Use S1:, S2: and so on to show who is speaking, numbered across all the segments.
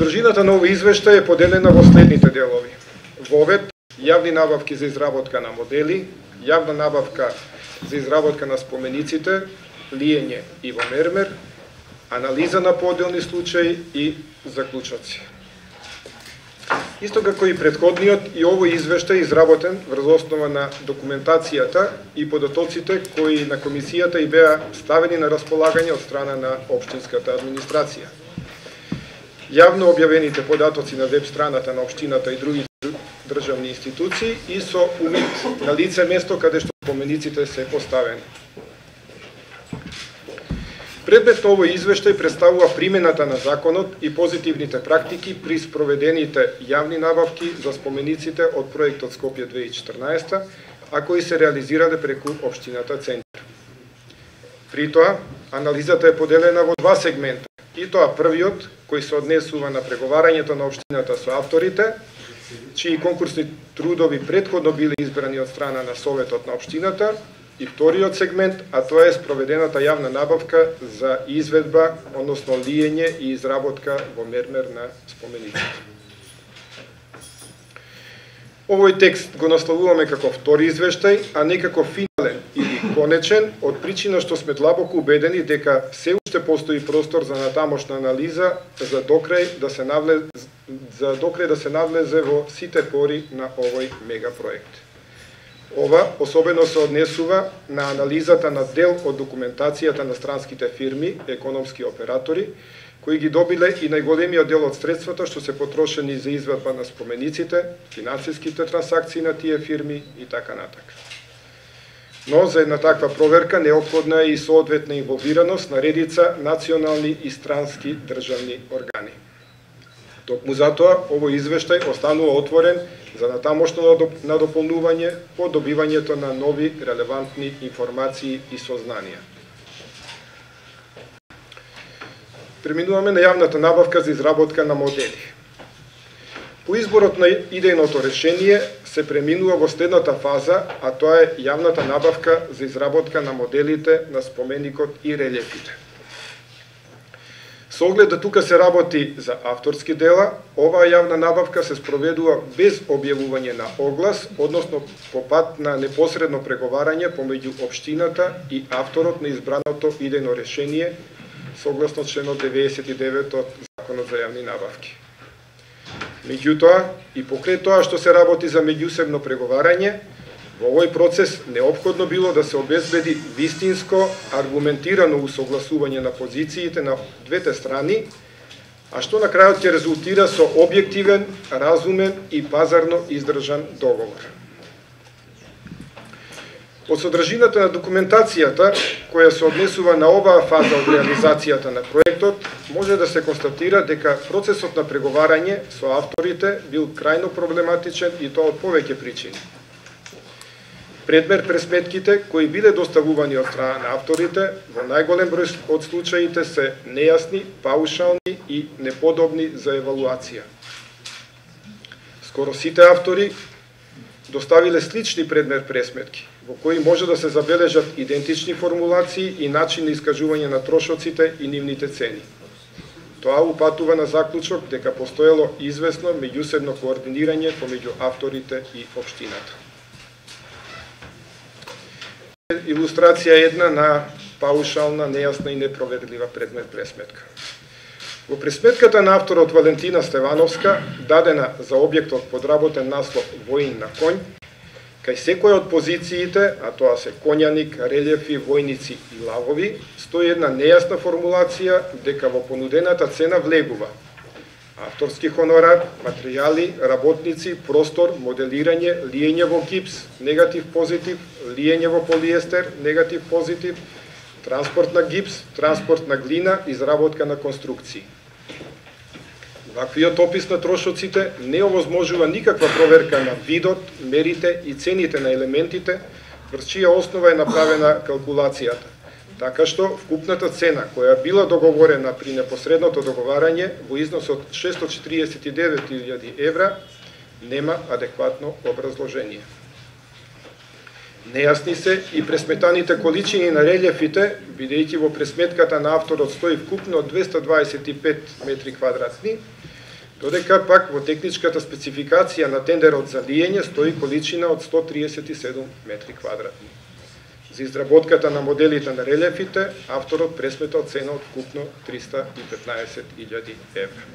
S1: Содржината на овој извештај е поделена во следните делови. Вовед, јавни набавки за изработка на модели, јавна набавка за изработка на спомениците, лиење и во мермер, анализа на поделни случаи и заклучоци. Исто како и претходниот, и овој извештај изработен врз основа на документацијата и податоците кои на комисијата и беа ставени на располагање од страна на општинската администрација. Јавно објавените податоци на веб страната на општината и другите државни институции и со увид на лице место каде што спомениците се поставени. Предмет на овој извештај представува примената на законот и позитивните практики при спроведените јавни набавки за спомениците од проектот Скопје 2014, а кои се реализирале преку општината Центар. При тоа, анализата е поделена во два сегмента. И тоа првиот, кој се однесува на преговарањето на општината со авторите, чии конкурсни трудови претходно биле избрани од страна на Советот на општината, и вториот сегмент, а тоа е спроведената јавна набавка за изведба, односно лиење и изработка во мермер на спомениците. Овој текст го насловуваме како втори извештај, а не како финален или конечен, од причина што сме длабоко убедени дека се уште постои простор за натамошна анализа за докрај да се навлезе во сите пори на овој мегапроект. Ова особено се однесува на анализата на дел од документацијата на странските фирми, економски оператори, кои ги добиле и најголемиот дел од средствата што се потрошени за извадба на спомениците, финансиските трансакции на тие фирми и така натака. Но за една таква проверка неопходна е и соодветна инволвираност на редица национални и странски државни органи. Токму затоа, овој извештај останува отворен за натамошно надополнување по добивањето на нови релевантни информации и сознанија. Преминуваме на јавната набавка за изработка на модели. По изборот на идејното решение се преминува во следната фаза, а тоа е јавната набавка за изработка на моделите на споменикот и релефите. Со оглед да тука се работи за авторски дела, оваа јавна набавка се спроведува без објавување на оглас, односно по пат на непосредно преговарање помеѓу општината и авторот на избраното идејно решение, согласно членот 99 од Законот за јавни набавки. Меѓутоа, и покрај тоа што се работи за меѓусебно преговарање, во овој процес неопходно било да се обезбеди вистинско, аргументирано усогласување на позициите на двете страни, а што на крајот ќе резултира со објективен, разумен и пазарно издржан договор. Од содржината на документацијата, која се однесува на оваа фаза од реализацијата на проектот, може да се констатира дека процесот на преговарање со авторите бил крајно проблематичен и тоа од повеќе причини. Предмер пресметките кои биле доставувани од страна на авторите во најголем број од случаите се нејасни, паушални и неподобни за евалуација. Скоро сите автори доставиле слични предмер пресметки, во кои може да се забележат идентични формулации и начин на искажување на трошоците и нивните цени. Тоа упатува на заклучок дека постоело известно меѓусебно координирање помеѓу авторите и општината. Илустрација една на паушална, нејасна и непроведлива предмет пресметка. Во пресметката на авторот Валентина Стевановска, дадена за објектот подработен наслов Воин на конј, кај секоја од позициите, а тоа се конјаник, релјефи, војници и лавови, стои една нејасна формулација дека во понудената цена влегува авторски хонорар, материјали, работници, простор, моделирање, лиење во гипс, негатив-позитив, лиење во полиестер, негатив-позитив, транспорт на гипс, транспорт на глина, изработка на конструкции. Ваквиот опис на трошоците не овозможува никаква проверка на видот, мерите и цените на елементите, врз чија основа е направена калкулацијата. Така што, вкупната цена, која била договорена при непосредното договарање во износ од 649.000 евра, нема адекватно образложение. Нејасни се и пресметаните количини на релјефите, бидејќи во пресметката на авторот стои вкупно 225 метри квадратни, додека пак во техничката спецификација на тендерот за лиење стои количина од 137 метри квадратни. За изработката на моделите на релефите, авторот пресметал цена од вкупно 315.000 евра.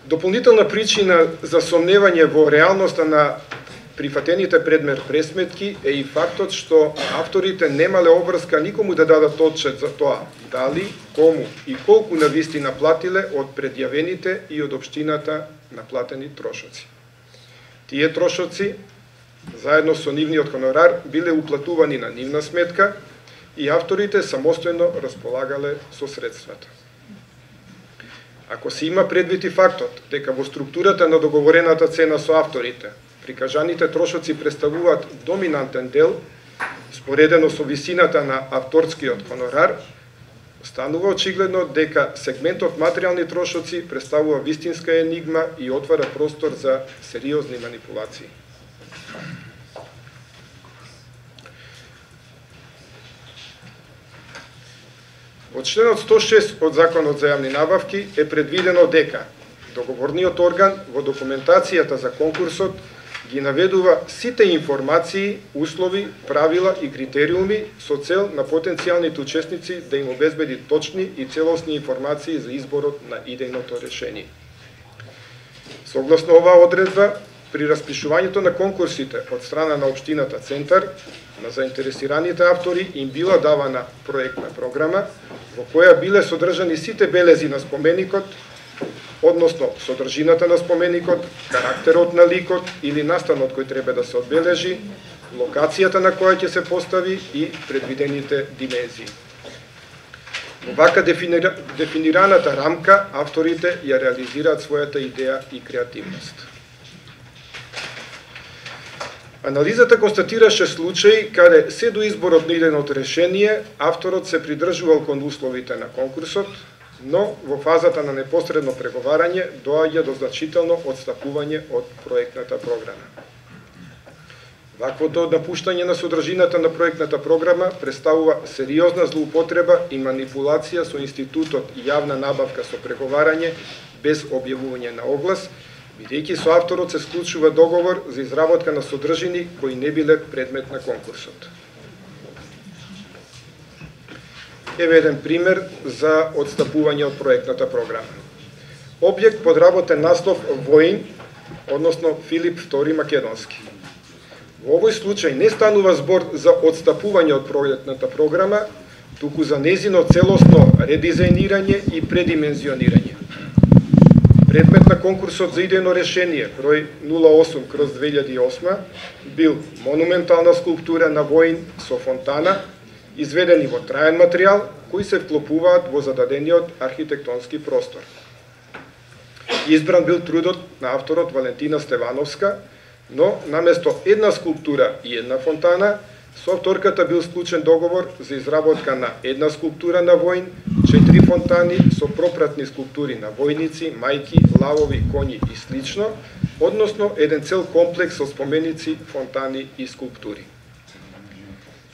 S1: Дополнителна причина за сомневање во реалноста на прифатените предмет пресметки е и фактот што авторите немале обврска никому да дадат отчет за тоа дали, кому и колку навистина платиле од предјавените и од општината наплатени трошоци. Тие трошоци, заедно со нивниот хонорар, биле уплатувани на нивна сметка и авторите самостојно располагале со средствата. Ако се има предвид и фактот дека во структурата на договорената цена со авторите, прикажаните трошоци представуваат доминантен дел, споредено со висината на авторскиот хонорар, станува очигледно дека сегментот материјални трошоци представува вистинска енигма и отвара простор за сериозни манипулации. Од членот 106 од Законот за јавни набавки е предвидено дека договорниот орган во документацијата за конкурсот ги наведува сите информации, услови, правила и критериуми со цел на потенцијалните учесници да им обезбеди точни и целосни информации за изборот на идејното решение. Согласно оваа одредба, при распишувањето на конкурсите од страна на општината Центар, на заинтересираните автори им била давана проектна програма, во која биле содржани сите белези на споменикот, односно содржината на споменикот, карактерот на ликот или настанот кој треба да се одбележи, локацијата на која ќе се постави и предвидените димензии. Во вака дефинираната рамка, авторите ја реализираат својата идеја и креативност. Анализата констатираше случаи каде се до изборот на идејното решение, авторот се придржувал кон условите на конкурсот, но во фазата на непосредно преговарање доаѓа до значително одстапување од проектната програма. Ваквото напуштање на содржината на проектната програма представува сериозна злоупотреба и манипулација со институтот јавна набавка со преговарање без објавување на оглас, бидејќи со авторот се склучува договор за изработка на содржини кои не биле предмет на конкурсот. Еве еден пример за одстапување од проектната програма. Објект под работен наслов Воин, односно Филип II Македонски. Во овој случај не станува збор за одстапување од проектната програма, туку за незино целосно редизајнирање и предимензионирање. Предмет на конкурсот за идејно решение број 08/2008 бил монументална скулптура на Воин со фонтана, изведени во траен материјал, кои се вклопуваат во зададениот архитектонски простор. Избран бил трудот на авторот Валентина Стевановска, но наместо една скулптура и една фонтана, со авторката бил склучен договор за изработка на една скулптура на Воин, 4 фонтани со пропратни скулптури на војници, мајки, лавови, коњи и слично, односно еден цел комплекс со споменици, фонтани и скулптури.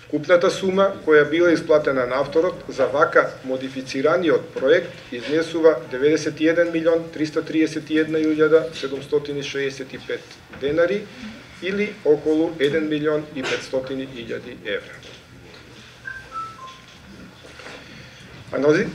S1: Вкупната сума која била исплатена на авторот за вака модифицираниот проект изнесува 91.331.765 денари или околу 1.500.000 евра.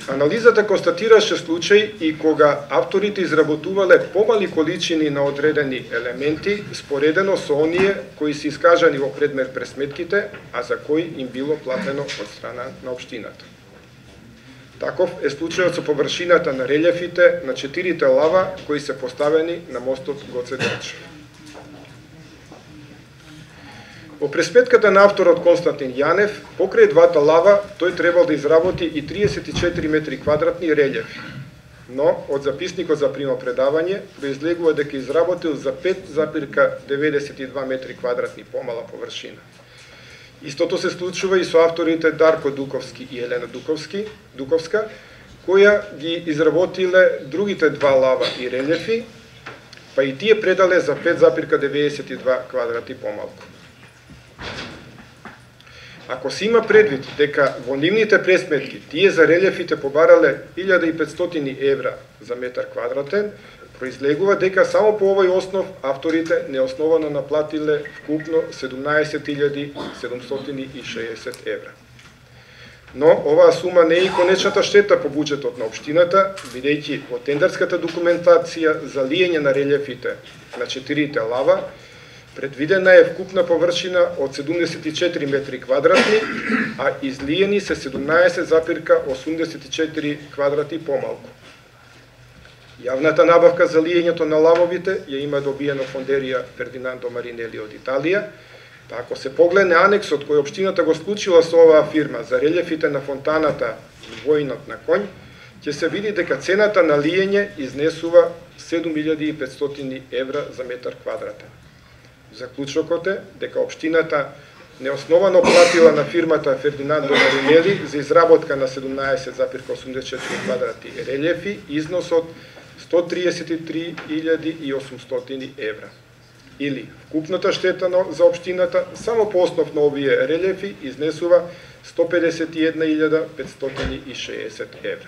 S1: Анализата констатираше случаи и кога авторите изработувале помали количини на одредени елементи споредено со оние кои се искажани во предмет пресметките, а за кои им било платено од страна на општината. Таков е случајот со површината на релјефите на 4 лава кои се поставени на мостот Гоце Делчев. Во пресметката на авторот Константин Јанев, покрај двата лава, тој требал да изработи и 34 метри квадратни релјефи. Но, од записникот за примопредавање, произлегува дека изработил за 5,92 метри квадратни помала површина. Истото се случува и со авторите Дарко Дуковски и Елена Дуковска, која ги изработиле другите два лава и релјефи, па и тие предале за 5,92 квадрати помалку. Ако се има предвид дека во нивните пресметки тие за релефите побарале 1500 евра за метар квадратен, произлегува дека само по овој основ авторите неосновано наплатиле вкупно 17.760 евра. Но оваа сума не е и конечната штета по буџетот на општината, бидејќи во тендерската документација за лиење на релефите на 4 лава предвидена е вкупна површина од 74 метри квадратни, а излиени се 17,84 квадрати помалку. Јавната набавка за лиењето на лавовите ја има добиено фондерија Фердинандо Маринели од Италија, па ако се погледне анексот кој општината го склучила со оваа фирма за релефите на фонтаната и војнот на конј, ќе се види дека цената на лиење изнесува 7500 евра за метар квадратен. Заклучокот е дека општината неосновано платила на фирмата Фердинандо Маринели за изработка на 17,84 квадрати релефи износ од 133.800 евра. Или вкупната штета за општината само по основ на овие релефи изнесува 151.560 евра.